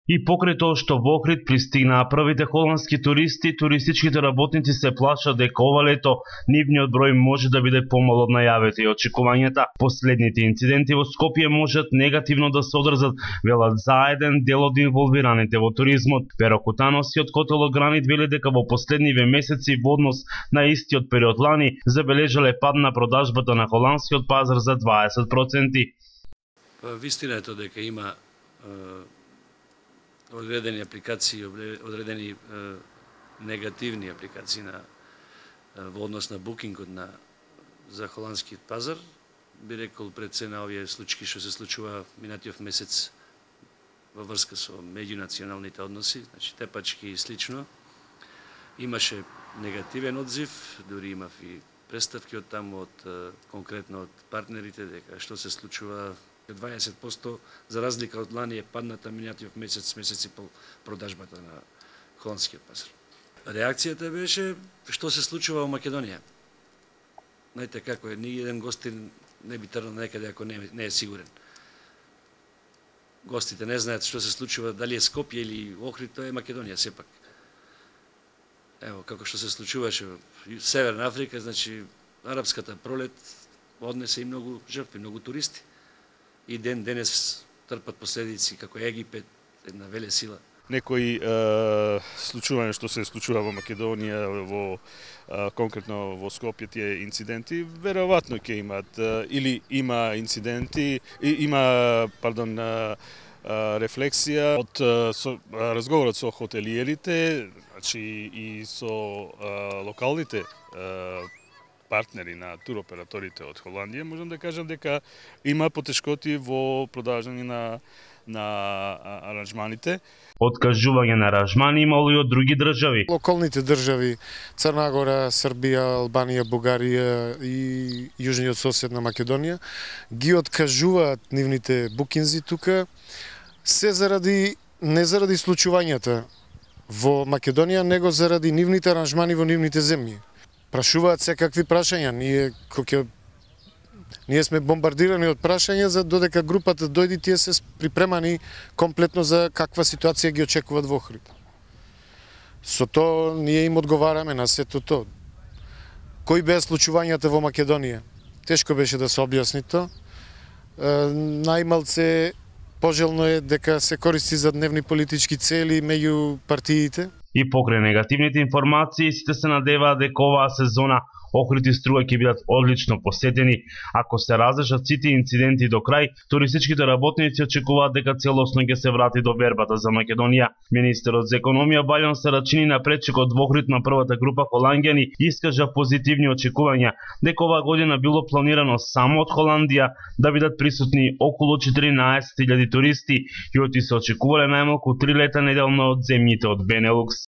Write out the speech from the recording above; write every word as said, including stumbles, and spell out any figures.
И покрај тоа што во Охрид пристигнаа првите холандски туристи, туристичките работници се плашат дека ова лето нивниот број може да биде помал од најавите и очекувањата. Последните инциденти во Скопје можат негативно да се одржат, велат заеден дел од инволвираните во туризмот. Перо Кутанос и од Котел Огранит вели дека во последниве месеци во однос на истиот период лани забележале пад на продажбата на холандскиот пазар за дваесет проценти. Вистина е тоа дека има одредени апликации, одредени е, негативни апликации на е, во однос на букингот на за холандскиот пазар. Би рекол пред се на овие случаи што се случува минатиот месец во врска со меѓунационалните односи, значи тепачки и слично. Имаше негативен одзив, дури имав и представки од таму од конкретно од партнерите дека што се случува дваесет проценти за разлика од лани е падната минатиот месец, месец и пол продажбата на холандскиот пазар. Реакцијата беше што се случува во Македонија. Знаете како е, ни еден гостин не би тргнал некаде ако не, не е сигурен. Гостите не знаат што се случува, дали е Скопје или Охрид, тоа е Македонија сепак. Ево, како што се случуваше во Северна Африка, значи арапската пролет однесе и многу жртви, многу туристи. И ден денес трпат последици како Египет, една велесила. Некои е, случувања што се случува во Македонија, во е, конкретно во Скопје тие инциденти, веројатно ќе имаат е, или има инциденти, и, има, пардон, е, рефлексија од со, разговорот со хотелиерите, значи и со е, локалните е, партнери на туроператорите од Холандија, можам да кажам дека има потешкоти во продажање на на аранжманите. Откажување на аранжмани имало и од други држави. Локалните држави Црна Гора, Србија, Албанија, Бугарија и јужниот сосед на Македонија ги откажуваат нивните букинзи тука се заради не заради случувањата во Македонија, него заради нивните аранжмани во нивните земји. Прашуваат секакви прашања. Ние кој ние сме бомбардирани од прашања за додека групата дојди, тие се припремани комплетно за каква ситуација ги очекуваат во Охрид. Со тоа ние им одговараме на сето тоа. Кои беа случувањата во Македонија? Тешко беше да се објасни тоа. Најмалце пожелно е дека се користи за дневни политички цели меѓу партиите. И покрај негативните информации, сите се надеваат дека оваа сезона Охрид и Струга ќе бидат одлично посетени. Ако се разрешат сите инциденти до крај, туристичките работници очекуваат дека целосно ќе се врати до вербата за Македонија. Министерот за економија Бајон Сарачини на пречекот во Охрид на првата група холанѓани искажа позитивни очекувања дека оваа година било планирано само од Холандија да бидат присутни околу четиринаесет илјади туристи и оти се очекувале најмалку три лета неделно од земјите од Бенелукс.